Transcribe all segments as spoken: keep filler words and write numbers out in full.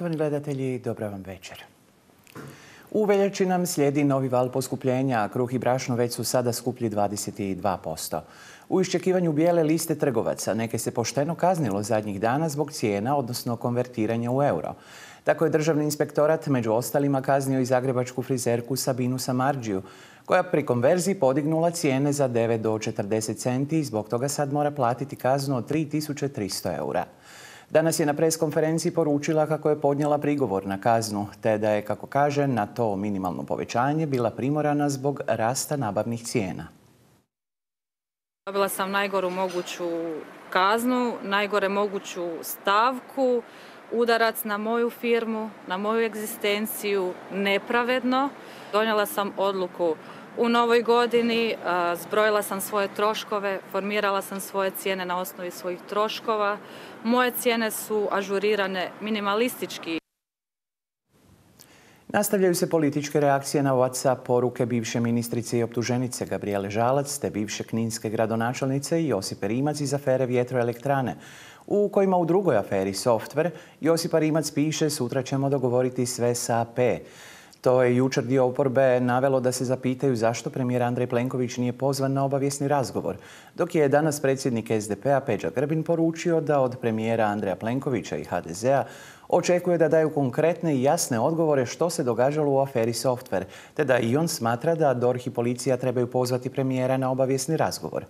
Poštovani gledatelji, dobra vam večer. U veljači nam slijedi novi val poskupljenja, a kruh i brašno već su sada skuplji dvadeset dva posto. U iščekivanju bijele liste trgovaca neke se pošteno kaznilo zadnjih dana zbog cijena, odnosno konvertiranja u euro. Tako je Državni inspektorat među ostalima kaznio i zagrebačku frizerku Sabinu Samardžiju, koja pri konverziji podignula cijene za devet do četrdeset centi i zbog toga sad mora platiti kaznu od tri tisuće tristo eura. Danas je na pres konferenciji poručila kako je podnijela prigovor na kaznu, te da je, kako kaže, na to minimalno povećanje bila primorana zbog rasta nabavnih cijena. Dobila sam najgoru moguću kaznu, najgore moguću stavku, udarac na moju firmu, na moju egzistenciju, nepravedno. Donijela sam odluku u novoj godini, zbrojila sam svoje troškove, formirala sam svoje cijene na osnovi svojih troškova. Moje cijene su ažurirane minimalistički. Nastavljaju se političke reakcije na WhatsApp poruke bivše ministrice i optuženice Gabrijele Žalac te bivše kninske gradonačelnice Josipe Rimac iz afere Vjetroelektrane, u kojima u drugoj aferi Softver Josipa Rimac piše sutra ćemo dogovoriti sve s A P. To je jučer dio oporbe navelo da se zapitaju zašto premijer Andrej Plenković nije pozvan na obavijesni razgovor, dok je danas predsjednik S D P-a Peđa Grbin poručio da od premijera Andreja Plenkovića i H D Z-a očekuje da daju konkretne i jasne odgovore što se događalo u aferi Softver, te da i on smatra da D O R H i policija trebaju pozvati premijera na obavijesni razgovor.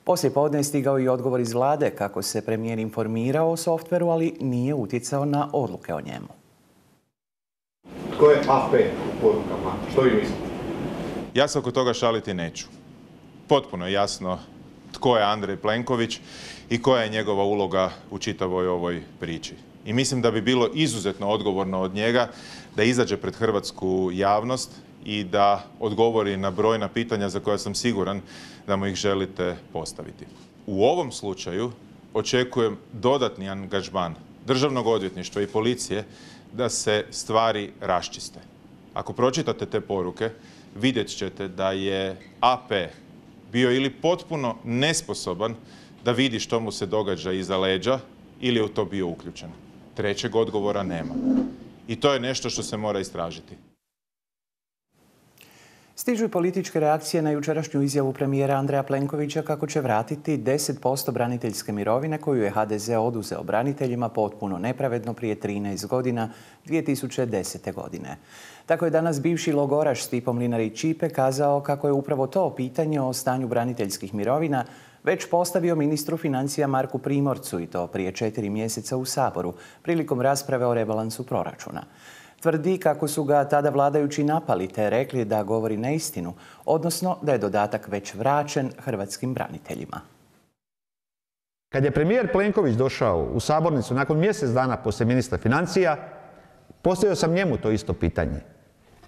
Poslije podne je stigao i odgovor iz vlade kako se premijer informirao o Softveru, ali nije utjecao na odluke o njemu. Tko je A P u porukama? Što vi mislite? Ja se oko toga šaliti neću. Potpuno je jasno tko je Andrej Plenković i koja je njegova uloga u čitavoj ovoj priči. I mislim da bi bilo izuzetno odgovorno od njega da izađe pred hrvatsku javnost i da odgovori na brojna pitanja za koja sam siguran da mu ih želite postaviti. U ovom slučaju očekujem dodatni angažman Državnog odvjetništva i policije da se stvari raščiste. Ako pročitate te poruke, vidjet ćete da je A P bio ili potpuno nesposoban da vidi što mu se događa iza leđa ili je u to bio uključen. Trećeg odgovora nema. I to je nešto što se mora istražiti. Stižu i političke reakcije na jučerašnju izjavu premijera Andreja Plenkovića kako će vratiti deset posto braniteljske mirovine koju je H D Z oduzeo braniteljima potpuno nepravedno prije trinaest godina, dvije tisuće desete. godine. Tako je danas bivši logoraš Stipo Mlinarić-Ćipe kazao kako je upravo to pitanje o stanju braniteljskih mirovina već postavio ministru financija Marku Primorcu i to prije četiri mjeseca u Saboru prilikom rasprave o rebalansu proračuna. Tvrdi kako su ga tada vladajući napali te rekli da govori neistinu, odnosno da je dodatak već vraćen hrvatskim braniteljima. Kad je premijer Plenković došao u sabornicu nakon mjesec dana poslije ministra financija, postavio sam njemu to isto pitanje.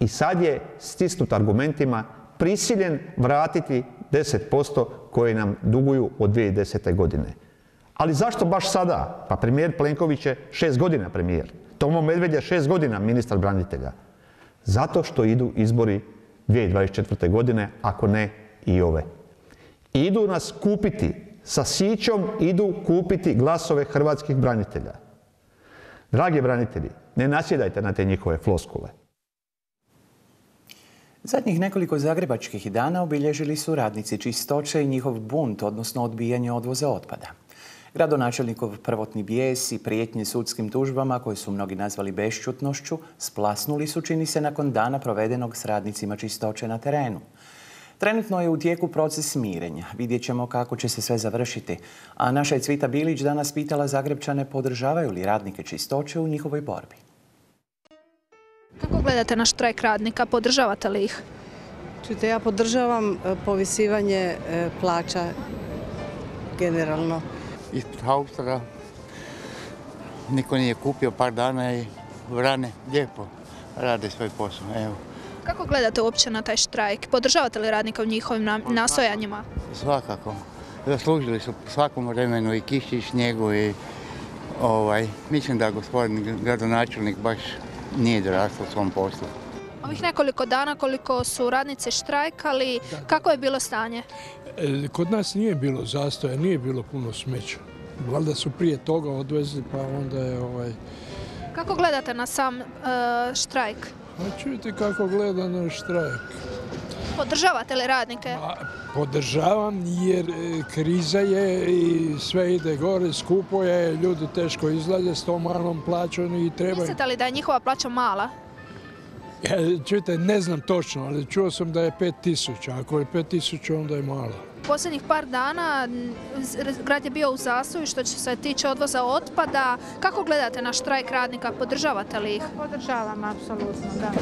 I sad je stisnut argumentima prisiljen vratiti deset posto koje nam duguju od dvije tisuće desete. godine. Ali zašto baš sada? Pa premijer Plenković je šest godina premijer. Tomo Medved je šest godina ministar branitelja. Zato što idu izbori dvije tisuće dvadeset četvrte. godine, ako ne i ove. Idu nas kupiti, sa sićom idu kupiti glasove hrvatskih branitelja. Dragi branitelji, ne nasjedajte na te njihove floskule. Zadnjih nekoliko zagrebačkih dana obilježili su radnici čistoće i njihov bunt, odnosno odbijanje odvoza otpada. Gradonačelnikov prvotni bijes i prijetnje sudskim tužbama, koje su mnogi nazvali bešćutnošću, splasnuli su, čini se, nakon dana provedenog s radnicima čistoće na terenu. Trenutno je u tijeku proces mirenja. Vidjet ćemo kako će se sve završiti. A naša je Cvita Bilić danas pitala Zagrebčane podržavaju li radnike čistoće u njihovoj borbi. Kako gledate na štrajk radnika? Podržavate li ih? Čujte, ja podržavam povisivanje plaća generalno. Ispred haustera, niko nije kupio par dana i vrane lijepo rade svoj posao. Evo. Kako gledate uopće na taj štrajk? Podržavate li radnika u njihovim nastojanjima? Svakako. Zaslužili su svakom vremenu i kiši i snijegu i ovaj, mislim da gospodin gradonačelnik baš nije dorastao svom poslu. Ovih nekoliko dana koliko su radnice štrajkali, kako je bilo stanje? Kod nas nije bilo zastoja, nije bilo puno smeća. Valjda su prije toga odvezli, pa onda je ovaj, Kako gledate na sam e, štrajk? Pa čujte kako gleda na štrajk. Podržavate li radnike? Pa, podržavam jer kriza je i sve ide gore, skupo je, ljudi teško izlaze s tom malom plaćom i treba... Mislite li da je njihova plaća mala? Ja, čujte, ne znam točno, ali čuo sam da je pet tisuća. Ako je pet tisuća, onda je mala. Posljednjih par dana grad je bio u zastoju što se tiče odvoza otpada. Kako gledate na štrajk radnika? Podržavate li ih? Podržavam, apsolutno, da.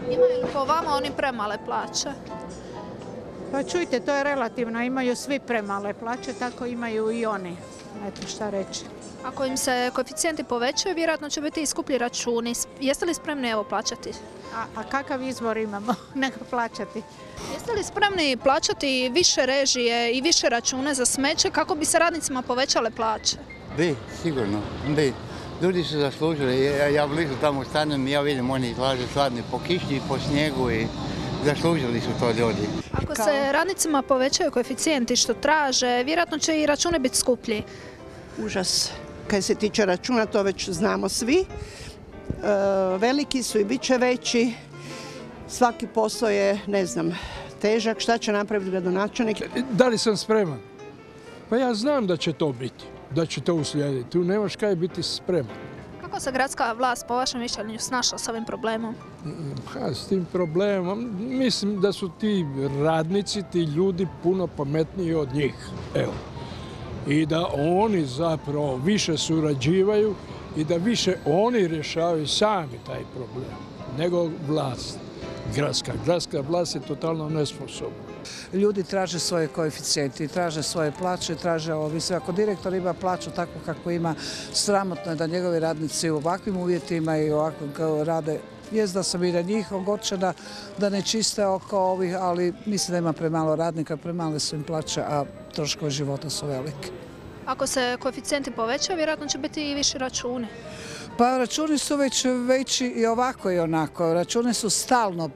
Imaju li po vama oni premale plaće? Pa čujte, to je relativno. Imaju svi premale plaće, tako imaju i oni. Eto šta reći. Ako im se koeficijenti povećaju, vjerojatno će biti i skuplji računi. Jeste li spremni evo plaćati? A, a kakav izbor imamo nego plaćati? Jeste li spremni plaćati više režije i više račune za smeće kako bi se radnicima povećale plaće? Bi, sigurno, bi. Ljudi su zaslužili. Ja, ja blizu tamo stanem i ja vidim oni izlaze sladni po kiši i po snijegu i zaslužili su to ljudi. Ako se radnicima povećaju koeficijenti što traže, vjerojatno će i računi biti skuplji. Užas. Kad se tiče računa, to već znamo svi. E, veliki su i bit će veći. Svaki posao je, ne znam, težak. Šta će napraviti gradonačelnik? Da li sam spreman? Pa ja znam da će to biti, da će to uslijediti. Tu nemaš kaj biti spreman. Kako se gradska vlast, po vašem mišljenju, snašla s ovim problemom? Ha, s tim problemom, mislim da su ti radnici, ti ljudi puno pametniji od njih. Evo. I da oni zapravo više surađivaju i da više oni rješavaju sami taj problem, nego vlast. Gradska. Gradska vlast je totalno nesposobna. Ljudi traže svoje koeficijente, traže svoje plaće, traže ovo sve. Ako direktor ima plaću tako kako ima, sramotno je da njegovi radnici u ovakvim uvjetima i ovakvim kao rade. Jest da sam i na njih ogorčena da ne čiste oko ovih, ali mislim da ima premalo radnika, premale su im plaće, a troškovi života su veliki. Ako se koeficijenti povećaju, vjerojatno će biti i viši računi. Pa računi su već veći i ovako i onako. Računi su stalno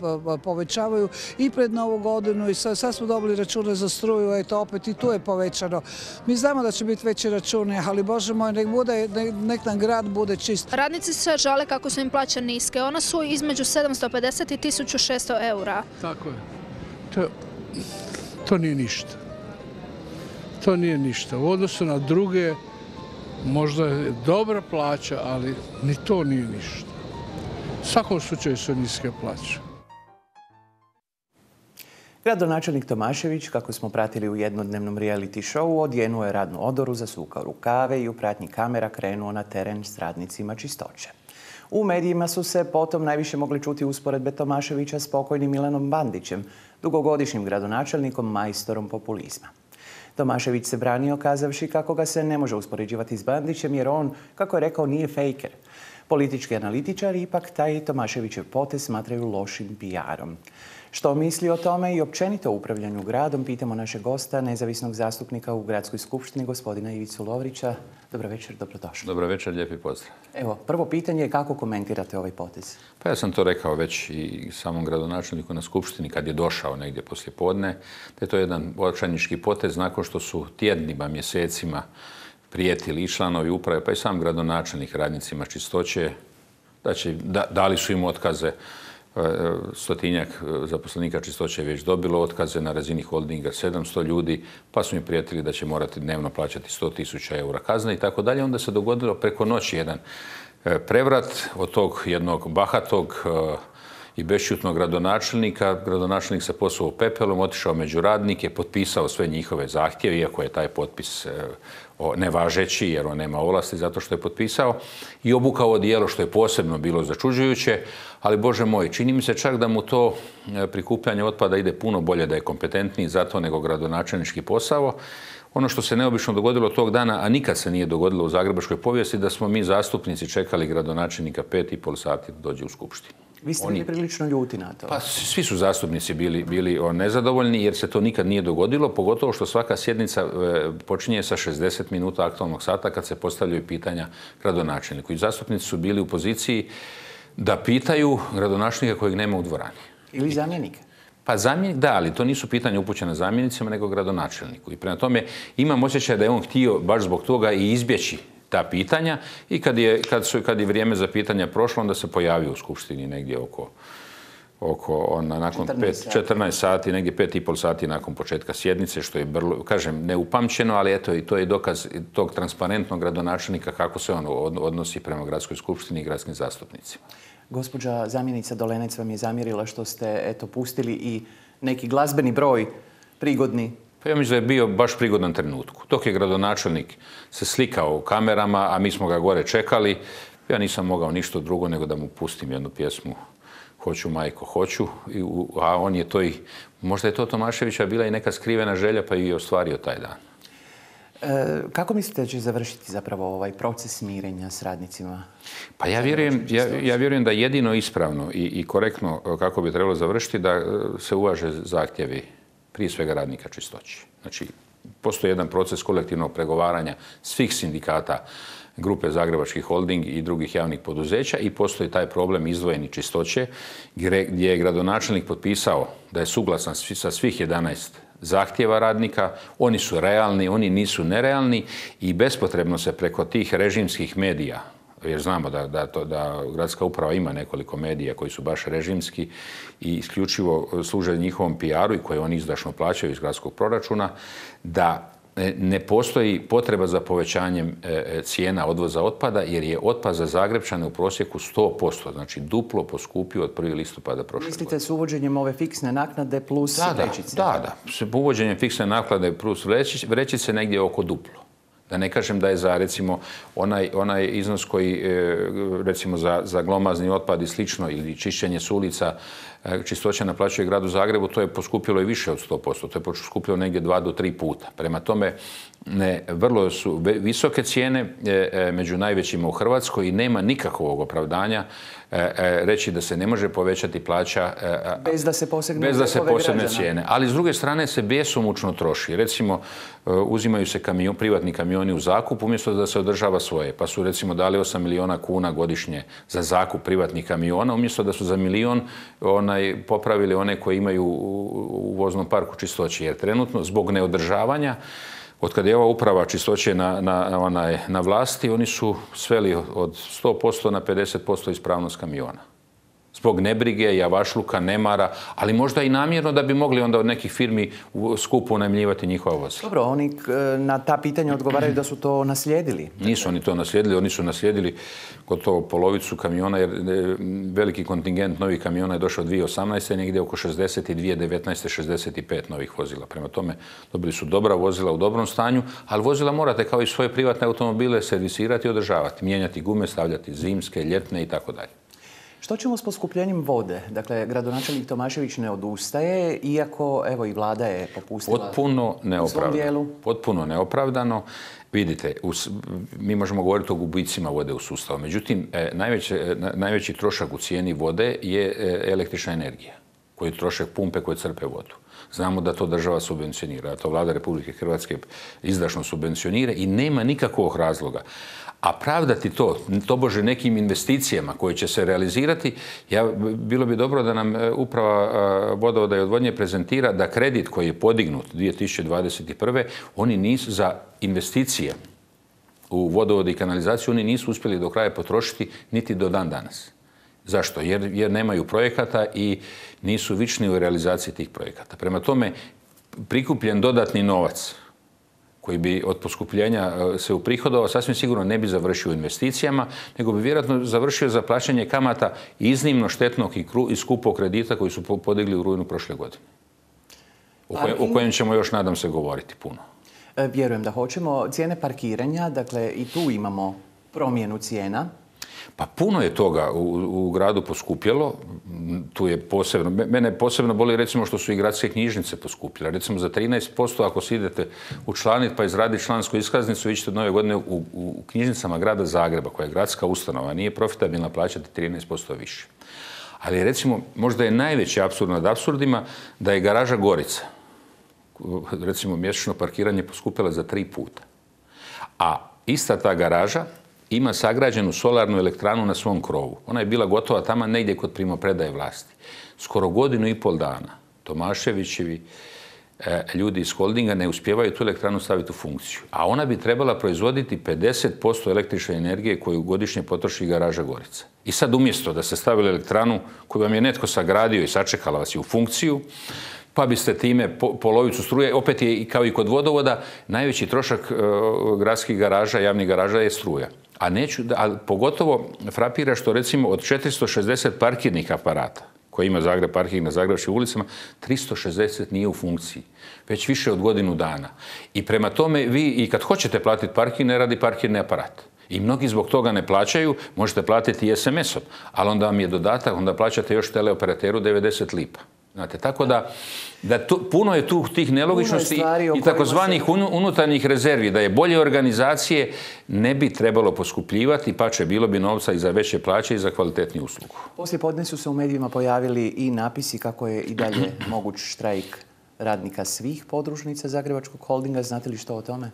povećavaju i pred Novu godinu i sad, sad smo dobili račune za struju, eto opet i tu je povećano. Mi znamo da će biti veći računi, ali Bože moj, nek, bude, nek nam grad bude čist. Radnici se žale kako su im plaće niske. One su između sedamsto pedeset i tisuću šesto eura. Tako je. To, to nije ništa. To nije ništa. U odnosu na druge, možda je dobra plaća, ali ni to nije ništa. U svakom slučaju su niske plaće. Gradonačelnik Tomašević, kako smo pratili u jednodnevnom reality showu, odjenuo je radnu odoru, zasukao rukave i u pratnji kamera krenuo na teren s radnicima čistoće. U medijima su se potom najviše mogli čuti usporedbe Tomaševića s pokojnim Milanom Bandićem, dugogodišnjim gradonačelnikom, majstorom populizma. Tomašević se branio kazavši kako ga se ne može uspoređivati s Bandićem jer on, kako je rekao, nije fejker. Politički analitičari ipak taj Tomaševićev potez smatraju lošim P R-om. Što misli o tome i općenito o upravljanju gradom, pitamo našeg gosta, nezavisnog zastupnika u Gradskoj skupštini, gospodina Ivicu Lovrića. Dobro večer, dobrodošli. Dobro večer, lijepi pozdrav. Evo, prvo pitanje je kako komentirate ovaj potez? Pa ja sam to rekao već i samom gradonačelniku na skupštini kad je došao negdje poslije podne, da je to jedan očajnički potez nakon što su tjednima, mjesecima prijetili i članovi uprave, pa i sam gradonačelnik radnicima čistoće, da će, da, dali su im otkaze. Stotinjak zaposlenika čistoće je već dobilo otkaze na razini holdinga, sedamsto ljudi, pa su mi prijetili da će morati dnevno plaćati sto tisuća eura kazne i tako dalje. Onda se dogodilo preko noći jedan prevrat od tog jednog bahatog i bešćutnog gradonačelnika. Gradonačelnik se posuo pepelom, otišao među radnike, potpisao sve njihove zahtjeve, iako je taj potpis nevažeći jer on nema ovlasti zato što je potpisao, i obukao odijelo što je posebno bilo začuđujuće, ali Bože moj, čini mi se čak da mu to prikupljanje otpada ide puno bolje, da je kompetentniji za to nego gradonačelnički posao. Ono što se neobično dogodilo tog dana, a nikad se nije dogodilo u zagrebačkoj povijesti, da smo mi zastupnici čekali gradonačelnika pet i pol sati da dođe u skupštinu. Vi ste bili prilično ljuti na to. Pa svi su zastupnici bili, bili nezadovoljni jer se to nikad nije dogodilo, pogotovo što svaka sjednica počinje sa šezdeset minuta aktualnog sata kad se postavljaju pitanja gradonačelniku. I zastupnici su bili u poziciji da pitaju gradonačelnika kojeg nema u dvorani. Ili zamjenika. Pa zamjenik, da, ali to nisu pitanja upućene zamjenicima nego gradonačelniku. I prema tome imam osjećaj da je on htio baš zbog toga i izbjeći ta pitanja i kad je, kad su, kad je vrijeme za pitanja prošlo, onda se pojavio u Skupštini negdje oko oko ona, nakon četrnaest sati, negdje pet i pol sati nakon početka sjednice, što je, brlo, kažem, neupamćeno, ali eto, i to je dokaz tog transparentnog gradonačelnika kako se on odnosi prema gradskoj skupštini i gradskim zastupnicima. Gospođa zamjenica Dolenec vam je zamjerila što ste, eto, pustili i neki glazbeni broj prigodni. Pa ja mislim da je bio baš prigodan trenutku. Dok je gradonačelnik se slikao u kamerama, a mi smo ga gore čekali, ja nisam mogao ništa drugo nego da mu pustim jednu pjesmu Hoću, majko, hoću, a on je to i, možda je to Tomaševića bila i neka skrivena želja, pa i ostvario taj dan. E, kako mislite da će završiti zapravo ovaj proces mirenja s radnicima? Pa ja vjerujem, ja, ja vjerujem da jedino ispravno i, i korektno kako bi trebalo završiti da se uvaže zahtjevi prije svega radnika čistoći. Znači, postoji jedan proces kolektivnog pregovaranja svih sindikata grupe Zagrebački holding i drugih javnih poduzeća i postoji taj problem izdvojeni čistoće gdje je gradonačelnik potpisao da je suglasan sa svih jedanaest zahtjeva radnika, oni su realni, oni nisu nerealni i bespotrebno se preko tih režimskih medija, jer znamo da, da, to, da gradska uprava ima nekoliko medija koji su baš režimski i isključivo služe njihovom P R-u i koje oni izdašno plaćaju iz gradskog proračuna, da ne postoji potreba za povećanjem cijena odvoza otpada jer je otpad za Zagrepčane u prosjeku sto posto, znači duplo poskupio od prvog listopada prošle godine. Mislite s uvođenjem ove fiksne naknade plus da, vrećice? Da, da. S uvođenjem fiksne naknade plus vrećice negdje oko duplo. Da ne kažem da je za, recimo, onaj, onaj iznos koji, recimo, za, za glomazni otpad i slično, ili čišćenje s ulica, čistoća naplaćuje gradu Zagrebu, to je poskupilo i više od sto posto. To je poskupilo negdje dva do tri puta. Prema tome, ne, vrlo su visoke cijene e, među najvećima u Hrvatskoj i nema nikakvog opravdanja e, e, reći da se ne može povećati plaća e, bez da se posegne, bez da se posegne cijene. Ali s druge strane se besomučno troši. Recimo, e, uzimaju se kamion, privatni kamioni u zakup umjesto da se održava svoje. Pa su recimo dali osam milijuna kuna godišnje za zakup privatnih kamiona umjesto da su za milion onaj, popravili one koje imaju u, u voznom parku čistoće. Jer trenutno zbog neodržavanja od kada je ova uprava čistoće na, na, onaj, na vlasti, oni su sveli od sto posto na pedeset posto ispravnost kamiona. Zbog nebrige, javašluka, nemara, ali možda i namjerno da bi mogli onda od nekih firmi skupo unajmljivati njihova vozila. Dobro, oni na ta pitanja odgovaraju da su to naslijedili. Nisu oni to naslijedili, oni su naslijedili gotovo polovicu kamiona, jer veliki kontingent novih kamiona je došao dvije tisuće osamnaeste. negdje oko šezdeset i dvije tisuće devetnaeste. šezdeset i pet novih vozila. Prema tome, dobili su dobra vozila u dobrom stanju, ali vozila morate kao i svoje privatne automobile servisirati i održavati, mijenjati gume, stavljati zimske, ljetne i tako dalje. Što ćemo s poskupljenjem vode? Dakle, gradonačelnik Tomašević ne odustaje, iako evo i vlada je popustila potpuno neopravdano. Potpuno neopravdano. Vidite, us, mi možemo govoriti o gubicima vode u sustavu. Međutim, najveći, najveći trošak u cijeni vode je električna energija, koji trošak pumpe koje crpe vodu. Znamo da to država subvencionira, da to vlada Republike Hrvatske izdašno subvencionira i nema nikakvog razloga. A pravdati to, tobože nekim investicijama koje će se realizirati, ja, bilo bi dobro da nam uprava vodovoda i odvodnje prezentira da kredit koji je podignut dvije tisuće dvadeset prve. oni nisu za investicije u vodovod i kanalizaciju, oni nisu uspjeli do kraja potrošiti niti do dan danas. Zašto? Jer, jer nemaju projekata i nisu vični u realizaciji tih projekata. Prema tome, prikupljen dodatni novac koji bi od poskupljenja se uprihodovao, sasvim sigurno ne bi završio u investicijama, nego bi vjerojatno završio za plaćanje kamata iznimno štetnog i, i skupog kredita koji su podigli u rujnu prošle godine. O, koje, o kojem ćemo još, nadam se, govoriti puno. E, vjerujem da hoćemo. Cijene parkiranja, dakle i tu imamo promjenu cijena. Pa puno je toga u, u gradu poskupjelo. Tu je posebno, mene posebno boli recimo što su i gradske knjižnice poskupile. Recimo za trinaest posto ako se idete učlaniti pa izraditi člansku iskaznicu, vi ćete od nove godine u, u knjižnicama grada Zagreba, koja je gradska ustanova, nije profitabilna plaćati trinaest posto više. Ali recimo, možda je najveći apsurd nad apsurdima da je garaža Gorica, recimo mjesečno parkiranje, poskupila za tri puta. A ista ta garaža ima sagrađenu solarnu elektranu na svom krovu. Ona je bila gotova tamo negdje kod primopredaje vlasti. Skoro godinu i pol dana Tomaševićevi ljudi iz holdinga ne uspijevaju tu elektranu staviti u funkciju. A ona bi trebala proizvoditi pedeset posto električne energije koju godišnje potroši garaža Gorica. I sad umjesto da ste stavili elektranu koju vam je netko sagradio i sačekala vas je u funkciju, pa biste time polovicu struje, opet je kao i kod vodovoda, najveći trošak gradskih garaža, javnih garaža je struja. A, neću, a pogotovo frapira što recimo od četiristo šezdeset parkirnih aparata koji ima Zagreb parking na zagrebačkim ulicama, tristo šezdeset nije u funkciji. Već više od godinu dana. I prema tome vi i kad hoćete platiti parking, ne radi parkirni aparat. I mnogi zbog toga ne plaćaju, možete platiti i es em esom, ali onda vam je dodatak, onda plaćate još teleoperateru devedeset lipa. Znate, tako da, da tu, puno je tu tih nelogičnosti i takozvanih se... unutarnjih rezervi, da je bolje organizacije ne bi trebalo poskupljivati, pa će bilo bi novca i za veće plaće i za kvalitetniju uslugu. Poslije podne su se u medijima pojavili i napisi kako je i dalje moguć štrajk radnika svih podružnica Zagrebačkog holdinga. Znate li što o tome?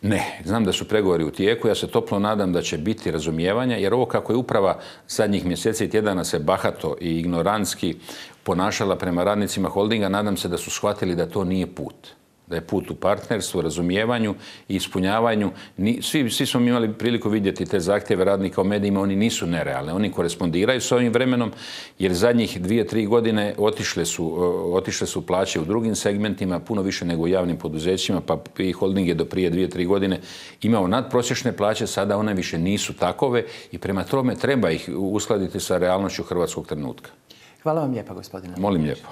Ne, znam da su pregovori u tijeku. Ja se toplo nadam da će biti razumijevanja, jer ovo kako je uprava zadnjih mjeseci i tjedana se bahato i ignorantski ponašala prema radnicima holdinga, nadam se da su shvatili da to nije put. Da je put u partnerstvu, razumijevanju i ispunjavanju. Svi, svi smo imali priliku vidjeti te zahtjeve radnika u medijima, oni nisu nerealni. Oni korespondiraju s ovim vremenom, jer zadnjih dvije, tri godine otišle su, otišle su plaće u drugim segmentima, puno više nego u javnim poduzećima, pa i holding je do prije dvije, tri godine imao nadprosječne plaće, sada one više nisu takove i prema tome treba ih uskladiti sa realnošću hrvatskog trenutka. Hvala vam lijepa, gospodine. Molim lijepo.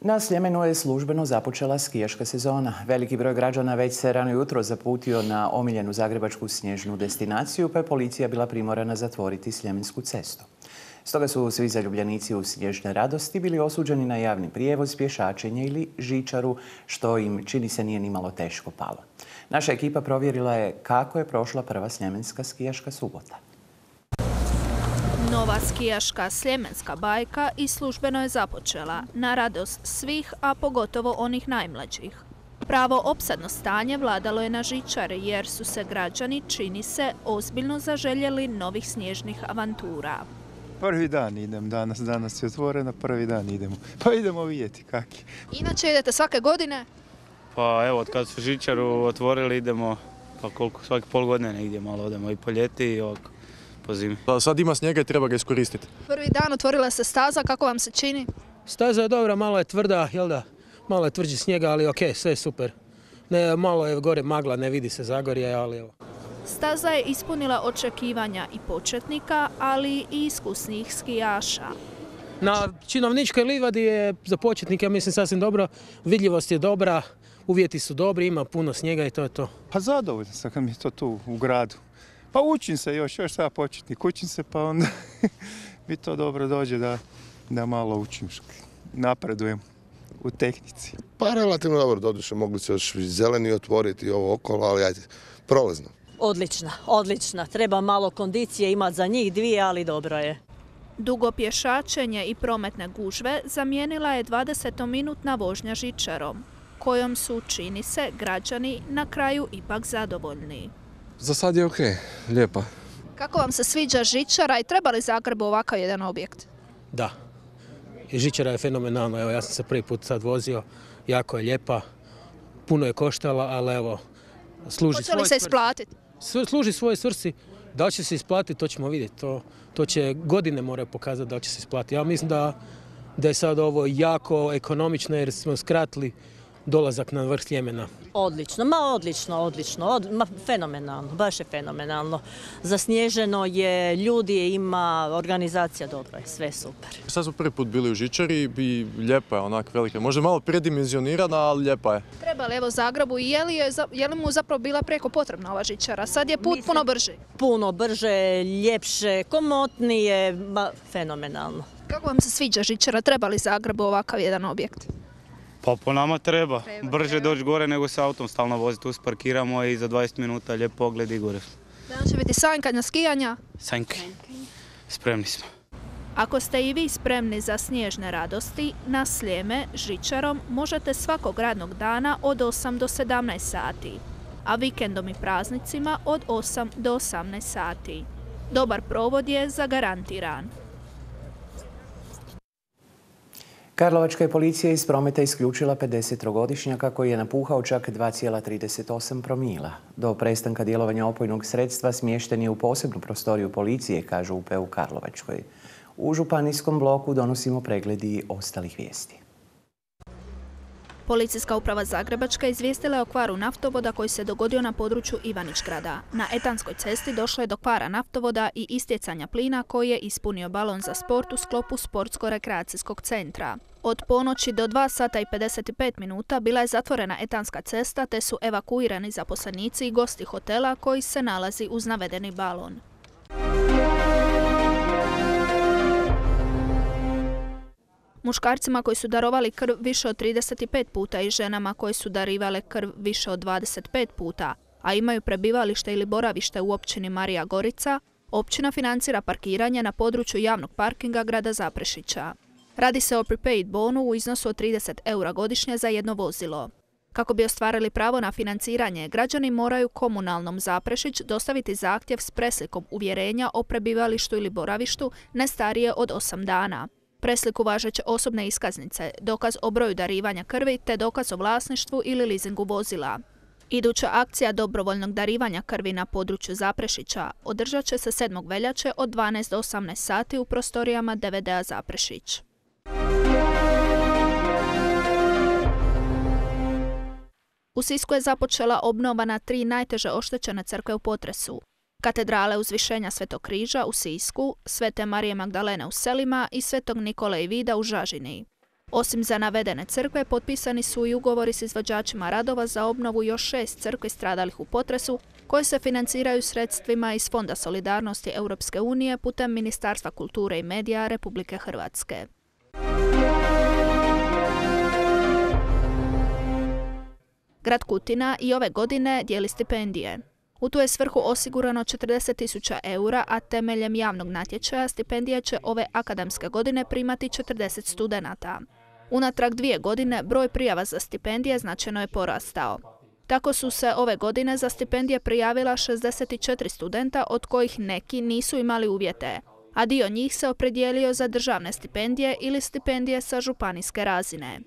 Na Sljemenu je službeno započela skijaška sezona. Veliki broj građana već se rano jutro zaputio na omiljenu zagrebačku snježnu destinaciju, pa je policija bila primorana zatvoriti Sljemensku cestu. Stoga su svi zaljubljenici u snježne radosti bili osuđeni na javni prijevoz, pješačenje ili žičaru, što im, čini se, nije nimalo teško palo. Naša ekipa provjerila je kako je prošla prva sljemenska skijaška subota. Nova skijaška sljemenska bajka i službeno je započela, na radost svih, a pogotovo onih najmlađih. Pravo opsadno stanje vladalo je na žičari jer su se građani, čini se, ozbiljno zaželjeli novih snježnih avantura. Prvi dan idem danas, danas je otvoreno, prvi dan idemo. Pa idemo vidjeti kak je. Inače idete svake godine? Pa evo, od kad su žičaru otvorili idemo, pa koliko, svaki pol godine negdje malo odemo i po ljeti i ovako. Sad ima snijega i treba ga iskoristiti. Prvi dan otvorila se staza, kako vam se čini? Staza je dobra, malo je tvrda, jel da? Malo je tvrđi snijega, ali ok, sve je super. Ne, malo je gore magla, ne vidi se Zagorje, ali evo. Staza je ispunila očekivanja i početnika, ali i iskusnih skijaša. Na Činovničkoj livadi je za početnike, ja mislim, sasvim dobro. Vidljivost je dobra, uvjeti su dobri, ima puno snijega i to je to. Pa zadovoljno sam kad mi je to tu u gradu. Pa učim se još, još sada početnik, učim se pa onda mi to dobro dođe da, da malo učim, napredujem u tehnici. Pa relativno dobro, doduše mogli se još zeleni otvoriti ovo okolo, ali ajde, prolazno. Odlična, odlična. Treba malo kondicije imati za njih dvije, ali dobro je. Dugo pješačenje i prometne gužve zamijenila je dvadesetominutna vožnja žičarom, kojom su, čini se, građani na kraju ipak zadovoljni. Za sad je okej, lijepa. Kako vam se sviđa žičara i treba li Zagrebu ovakav jedan objekt? Da. I žičara je fenomenalna. Evo, ja sam se prvi put sad vozio. Jako je lijepa. Puno je koštala, ali evo, služi svoj Hoće li se isplatiti? Služi svojoj svrsi. Da li će se isplatiti, to ćemo vidjeti. To, to će godine moraju pokazati da li će se isplatiti. Ja mislim da, da je sad ovo jako ekonomično jer smo skratili dolazak na vrh Sljemena. Odlično, ma odlično, odlično, od, ma fenomenalno, baš je fenomenalno. Zasnježeno je, ljudi ima, organizacija dobra je, sve super. Sad smo prvi put bili u žičari i lijepa je onak velika, možda malo predimenzionirana, ali lijepa je. Treba li evo Zagrebu i je li, je, je li mu zapravo bila preko potrebna ova žičara? Sad je put Mislim, puno brži. Puno brže, ljepše, komotnije, ma fenomenalno. Kako vam se sviđa žičara? Treba li Zagrebu ovakav jedan objekt? Pa po nama treba. treba Brže treba. doći gore nego se autom stalno voziti. Tu sparkiramo i za dvadeset minuta lijep pogled i gore. Danas će biti sanjkanja, skijanja? Sanjke. Spremni smo. Ako ste i vi spremni za snježne radosti, na Sljeme žičarom možete svakog radnog dana od osam do sedamnaest sati, a vikendom i praznicima od osam do osamnaest sati. Dobar provod je zagarantiran. Karlovačka je policija iz prometa isključila pedesettrogodišnjaka koji je napuhao čak dva zarez trideset osam promila. Do prestanka djelovanja opojnog sredstva smješten je u posebnu prostoriju policije, kažu u P U Karlovačkoj. U županijskom bloku donosimo pregledi ostalih vijesti. Policijska uprava Zagrebačka izvijestila je o kvaru naftovoda koji se dogodio na području Ivanić-grada. Na Etanskoj cesti došlo je do kvara naftovoda i istjecanja plina koji je ispunio balon za sport u sklopu sportsko-rekreacijskog centra. Od ponoći do dva sata i pedeset pet minuta bila je zatvorena Etanska cesta te su evakuirani zaposlenici i gosti hotela koji se nalazi uz navedeni balon. Muškarcima koji su darovali krv više od trideset pet puta i ženama koji su darivale krv više od dvadeset pet puta, a imaju prebivalište ili boravište u općini Marija Gorica, općina financira parkiranje na području javnog parkinga grada Zaprešića. Radi se o prepaid bonu u iznosu od trideset eura godišnje za jedno vozilo. Kako bi ostvarili pravo na financiranje, građani moraju komunalnom Zaprešić dostaviti zahtjev s preslikom uvjerenja o prebivalištu ili boravištu ne starije od osam dana. Presliku važeće osobne iskaznice, dokaz o broju darivanja krvi te dokaz o vlasništvu ili leasingu vozila. Iduća akcija dobrovoljnog darivanja krvi na području Zaprešića održat će se sedmog veljače od dvanaest do osamnaest sati u prostorijama D V D-a Zaprešić. U Sisku je započela obnova na tri najteže oštećene crkve u potresu. Katedrale Uzvišenja Svetog križa u Sisku, Svete Marije Magdalene u Selima i Svetog Nikole i Vida u Žažini. Osim za navedene crkve, potpisani su i ugovori s izvođačima radova za obnovu još šest crkvi stradalih u potresu, koje se financiraju sredstvima iz Fonda solidarnosti Europske unije putem Ministarstva kulture i medija Republike Hrvatske. Grad Kutina i ove godine dijeli stipendije. U tu je svrhu osigurano četrdeset tisuća eura, a temeljem javnog natječaja stipendije će ove akademske godine primati četrdeset studenata. Unatrag dvije godine broj prijava za stipendije značajno je porastao. Tako su se ove godine za stipendije prijavila šezdeset četiri studenta, od kojih neki nisu imali uvjete, a dio njih se opredijelio za državne stipendije ili stipendije sa županijske razine.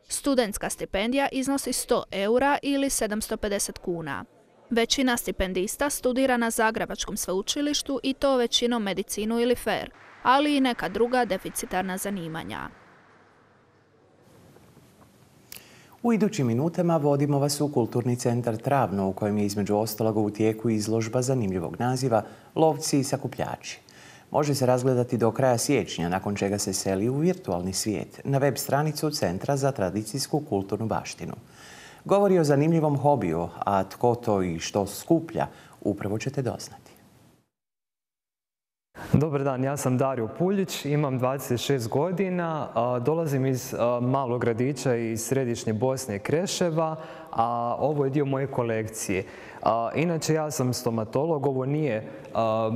Studentska stipendija iznosi sto eura ili sedamsto pedeset kuna. Većina stipendista studira na Zagrebačkom sveučilištu i to većinom medicinu ili F E R, ali i neka druga deficitarna zanimanja. U idućim minutama vodimo vas u Kulturni centar Travno, u kojem je između ostaloga u tijeku izložba zanimljivog naziva Lovci i sakupljači. Može se razgledati do kraja siječnja, nakon čega se seli u virtualni svijet na web stranicu Centra za tradicijsku kulturnu baštinu. Govori o zanimljivom hobiju, a tko to i što skuplja, upravo ćete doznati. Dobar dan, ja sam Dario Puljić, imam dvadeset šest godina, dolazim iz malog gradića iz središnje Bosne, Kreševa, a ovo je dio moje kolekcije. Inače, ja sam stomatolog, ovo nije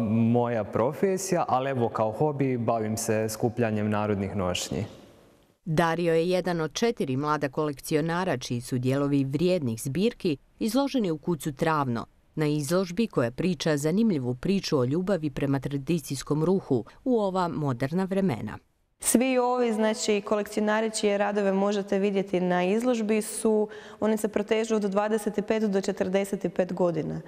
moja profesija, ali evo kao hobi bavim se skupljanjem narodnih nošnji. Dario je jedan od četiri mlada kolekcionara čiji su dijelovi vrijednih zbirki izloženi u kucu Travno, na izložbi koja priča zanimljivu priču o ljubavi prema tradicijskom ruhu u ova moderna vremena. Svi ovi, znači, kolekcionari čije radove možete vidjeti na izložbi su, oni se protežu od dvadeset pet do četrdeset pet godina.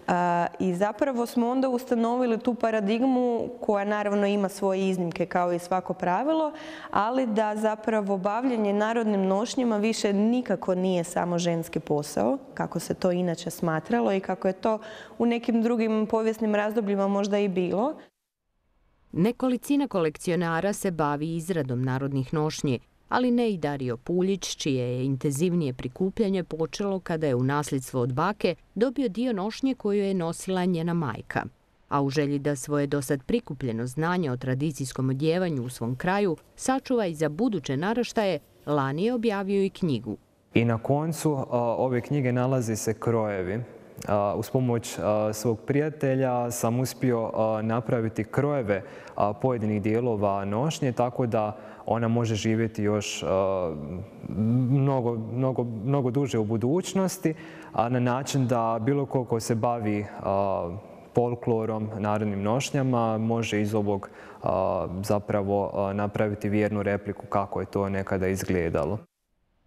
A, I zapravo smo onda ustanovili tu paradigmu koja naravno ima svoje iznimke kao i svako pravilo, ali da zapravo bavljenje narodnim nošnjama više nikako nije samo ženski posao, kako se to inače smatralo i kako je to u nekim drugim povijesnim razdobljima možda i bilo. Nekolicina kolekcionara se bavi izradom narodnih nošnji, ali ne i Dario Puljić, čije je intenzivnije prikupljanje počelo kada je u nasljedstvo od bake dobio dio nošnje koju je nosila njena majka. A u želji da svoje dosad prikupljeno znanje o tradicijskom odjevanju u svom kraju sačuva i za buduće naraštaje, lani je objavio i knjigu. I na koncu ove knjige nalaze se krojevi. Uz pomoć svog prijatelja sam uspio napraviti krojeve pojedinih dijelova nošnje, tako da ona može živjeti još mnogo, mnogo, mnogo duže u budućnosti, na način da bilo ko ko se bavi folklorom, narodnim nošnjama, može iz ovog zapravo napraviti vjernu repliku kako je to nekada izgledalo.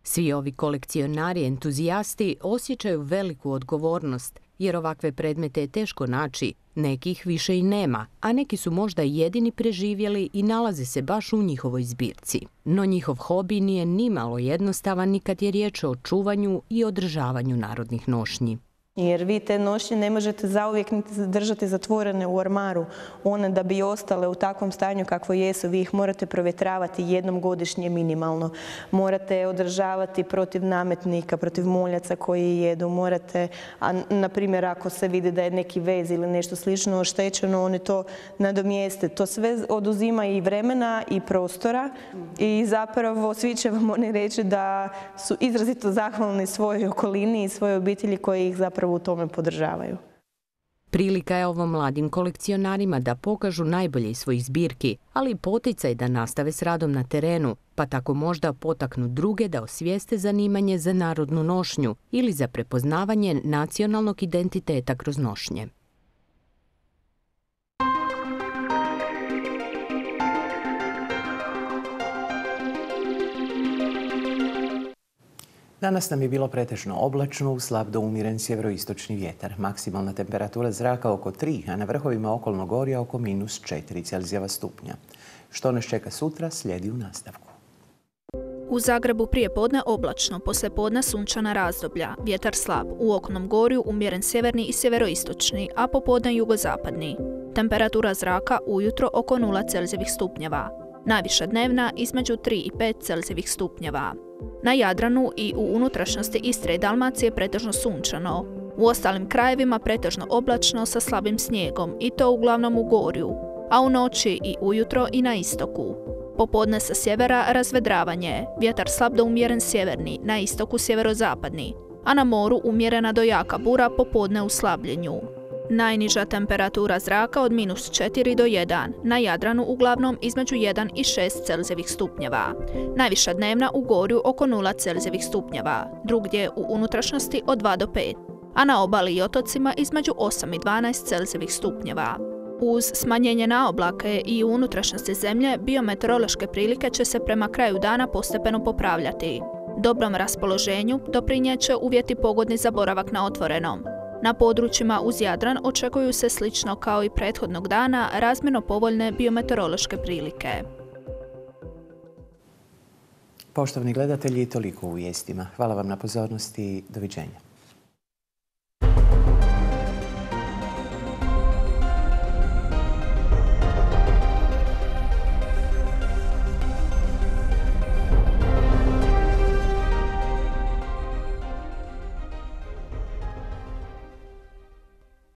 Svi ovi kolekcionari entuzijasti osjećaju veliku odgovornost, jer ovakve predmete je teško naći, nekih više i nema, a neki su možda jedini preživjeli i nalaze se baš u njihovoj zbirci. No njihov hobi nije nimalo jednostavan ni kad je riječ o čuvanju i održavanju narodnih nošnji. Jer vi te nošnje ne možete zauvijek niti držati zatvorene u ormaru. One da bi ostale u takvom stanju kakvo jesu, vi ih morate provjetravati jednom godišnje minimalno. Morate održavati protiv nametnika, protiv muljaca koji jedu. Morate, a na primjer ako se vidi da je neki vez ili nešto slično oštećeno, oni to nadomjeste. To sve oduzima i vremena i prostora i zapravo svi će vam oni reći da su izrazito zahvalni svojoj okolini i svojoj obitelji koji ih zapravo u tome podržavaju. Prilika je ovo mladim kolekcionarima da pokažu najbolje iz svojih zbirki, ali i poticaj da nastave s radom na terenu, pa tako možda potaknu druge da osvijeste zanimanje za narodnu nošnju ili za prepoznavanje nacionalnog identiteta kroz nošnje. Danas nam je bilo pretežno oblačno, slab do umjeren sjeveroistočni vjetar. Maksimalna temperatura zraka oko tri, a na vrhovima okolnog gorja oko minus četiri Celzijeva stupnja. Što nas čeka sutra, slijedi u nastavku. U Zagrebu prije podne oblačno, poslije podne sunčana razdoblja, vjetar slab, u okolnom gorju umjeren sjeverni i sjeveroistočni, a popodne jugozapadni. Temperatura zraka ujutro oko nula Celzijevih stupnjeva. Najviša dnevna između tri i pet Celzijevih stupnjeva. Na Jadranu i u unutrašnjosti Istre i Dalmacije pretežno sunčano. U ostalim krajevima pretežno oblačno sa slabim snijegom i to uglavnom u gorju, a u noći i ujutro i na istoku. Popodne sa sjevera razvedravanje, vjetar slab do umjeren sjeverni, na istoku sjeverozapadni, a na moru umjerena do jaka bura popodne u slabljenju. Najniža temperatura zraka od minus četiri do jedan, na Jadranu uglavnom između jedan i šest Celzijevih stupnjeva. Najviša dnevna u gorju oko nula Celzijevih stupnjeva, drugdje u unutrašnjosti od dva do pet, a na obali i otocima između osam i dvanaest Celzijevih stupnjeva. Uz smanjenje na oblake i u unutrašnjosti zemlje, biometeorološke prilike će se prema kraju dana postepeno popravljati. Dobrom raspoloženju doprinijet će uvjeti pogodni za boravak na otvorenom. Na područjima uz Jadran očekuju se slično kao i prethodnog dana razmjerno povoljne biometeorološke prilike. Poštovani gledatelji, toliko u vijestima. Hvala vam na pozornosti. Doviđenja.